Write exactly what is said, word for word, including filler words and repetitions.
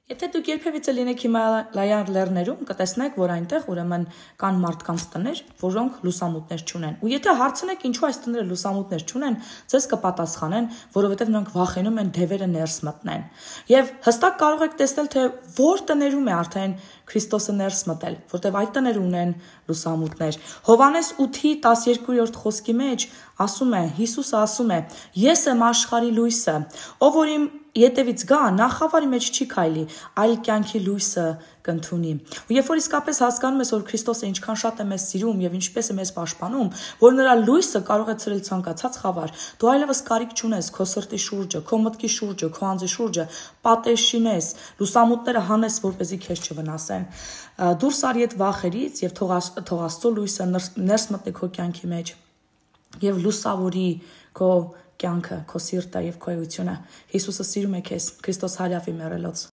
Եթե դուք երբևիցե լինեք Հիմալայան լեռներում, կտեսնեք, որ այնտեղ ուրեմն կան մարդկանց տներ, որոնք լուսամուտներ չունեն։ Ու եթե հարցնեք, ինչու այս տները լուսամուտներ չունեն, ձեզ կպատասխանեն, որովհետև նրանք վախենում են դևերը ներս մտնեն։ Եվ հստակ կարող եք տեսնել, թե որ տներում է արդեն Քրիստոսը ներս մտել, որտեղ այդ տները ունեն լուսամուտներ։ Հովհաննես ութի տասներկուերորդ խոսքի մեջ ասում է, Հիսուսը ասում է. «Ես եմ աշխարհի լույսը, ով որ իմ ետևից գա, նա խավարի մեջ չի քայլի, այլ կյանքի լույսը կընդունի»։ Ու երբ որ իսկապես հասկանում ես, որ Քրիստոսը ինչքան շատ է մեզ սիրում եւ ինչպես է մեզ պաշտպանում, որ նրա լույսը կարող է ցրել ցանկացած խավար, դու այլևս կարիք չունես քո սրտի շուրջը, քո մտքի շուրջը, քո անձի շուրջը պատեր շինես, լուսամուտները հանես, որպեսզի քեզ չվնասեն։ Դուրս արի այդ վախերից եւ թող թող Աստծո լույսը ներս մտնի քո կյանքի մեջ եւ լուսավորի քո կյանքը, քո սիրտը եւ քո էությունը։ Հիսուսը սիրում է քեզ, Քրիստոս հարյավի մեռելոց։